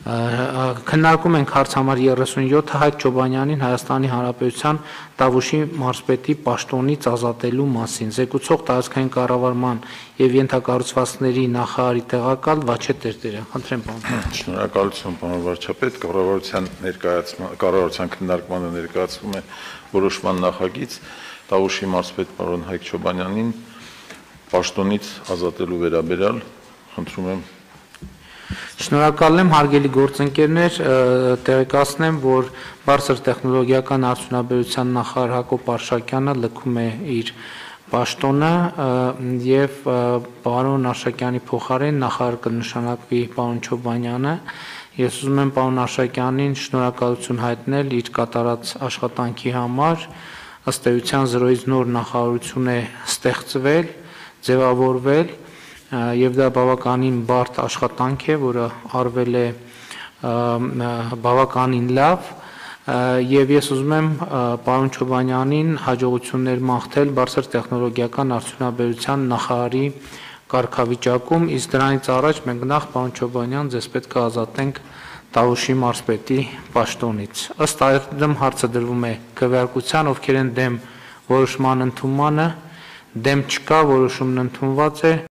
Քննարկում ենք հարց համար 37 Հայկ Չոբանյանին Հայաստանի Հանրապետության Տավուշի մարզպետի պաշտոնից ազատելու մասին։ Զեկուցող տարածքային կառավարման եւ ենթակառուցվածքների նախարարի տեղակալ Վաչե Տերտերյան։ Խնդրեմ, պարոն։ Շնորհակալություն, պարոն վարչապետ, կառավարության քննարկմանը ներկայացվում է որոշման նախագիծ Տավուշի մարզպետ պարոն Հայկ Չոբանյանին պաշտոնից ազատելու վերաբերյալ, խնդրում եմ։ Շնորհակալ եմ, հարգելի գործընկերներ, տեղեկացնեմ, որ բարձր տեխնոլոգիական արդյունաբերության նախարար Հակոբ Արշակյանը լքում է իր պաշտոնը եւ պարոն Արշակյանի փոխարեն նախարար կնշանակվի պարոն Չոբանյանը։ Ես ուզում եմ պարոն Արշակյանին շնորհակալություն հայտնել իր կատարած աշխատանքի համար։ Ըստ էության 0-ից նոր նախարարություն է ստեղծվել, ձևավորվել եւ դա բավականին բարդ աշխատանք է, որը արվել է բավականին լավ եւ ես ուզում եմ պարոն Չոբանյանին հաջողություններ մաղթել բարձր տեխնոլոգիական արդյունաբերության նախարարի կարգավիճակում, իսկ դրանից առաջ մենք նախ պարոն Չոբանյան ձեզ պետք է ազատենք Տավուշի մարզպետի պաշտոնից։ Ըստ այդմ հարցը դրվում է քվեարկության, ովքեր են դեմ որոշման ընդունմանը, դեմ չկա, որոշումն ընդունված է։